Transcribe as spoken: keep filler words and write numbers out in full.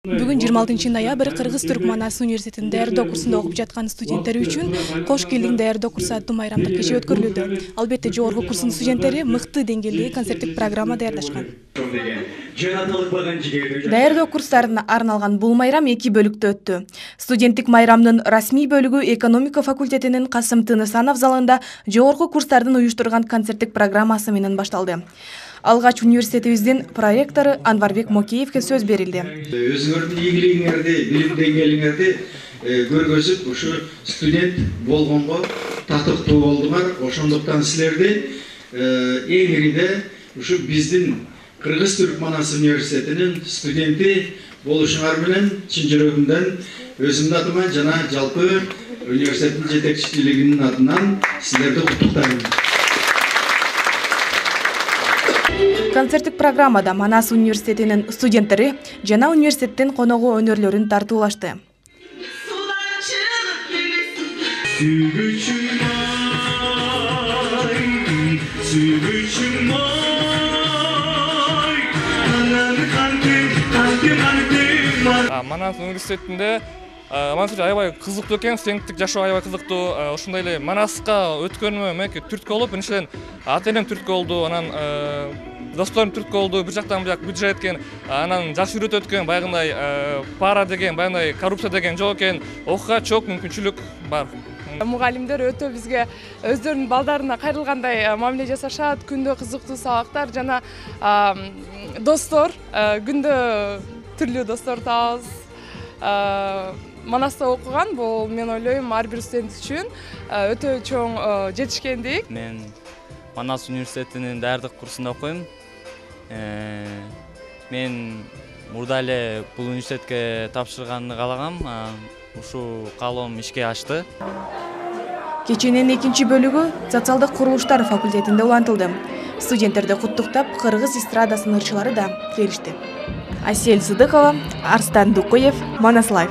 Бүгүн жыйырма алтынчы ноябрь Кыргыз-Түрк Манас университетинин даярдоо курсунда окуп жаткан студенттер үчүн кош келдиң даярдоо курсу аттуу майрамдык кече өткөрүлүүдө. Албетте жогорку курстун студенттери мыкты деңгээлдеги концерттик программа даярдашкан. Даярдоо курстарына арналган бул майрам эки бөлүктө өттү. Студенттик майрамдын расмий бөлүгү экономика факультетинин Касым Тынысанов залында жогорку курстардын уюштурган концерттик программасы менен башталды. Алгач университетибиздин проректору Анварбек Мокеевке сөз берилди. Өзүңөрдүн ийгилигиңерди, билим деңгээлиңерди көргөзүп, ушу студент болгонго татыктуу болдуңар. Ошондуктан силерди эң ириде ушу биздин Кыргыз-Түрк Манас университетинин студенти болушуңар менен чын жүрөгүмдөн өзүмдүн атыма жана жалпы университеттин жетекчилигинин атынан силерди куттуктайм. Концерттик программада Манас университетинин студенттери жана университеттин коногу өнөрлөрүн тартуулашты. Манас университетинде Манас аябай кызыктуу экен, студенттик жашоо аябай кызыктуу. Ошондой эле Манаска өткөнүмө меники түрткү болуп, биринчиден ата энем түрткү болду, анан досторум түрткү болду, бир жактан бияк бюджет экен, анан жакшы үйрөтөт экен, баягындай пара деген, баягындай коррупция деген жок экен, окууга чок мүмкүнчүлүк бар. Мугалимдер өтө бизге өздөрүнүн балдарына кайрылгандай мамиле жасашат, күндө кызыктуу сабактар жана достор, күндө түрлүү достор табабыз. Манаста окуган бул мен ойлойм ар бир студент үчүн өтө чоң жетишкендик. Мен Манас университетинин даярдык курсунда окуйм. Мен мурда эле бул университетке тапшырганды каалагам. Ушул каалоом ишке ашты. Кеченин экинчи бөлүгү социалдык курулуштар факультетинде улантылды. Студенттерди куттуктап, Кыргыз эстрадасынын ырчылары да келишти. Асель Сыдыкова, Арстан Дукуев, Манас Лайф.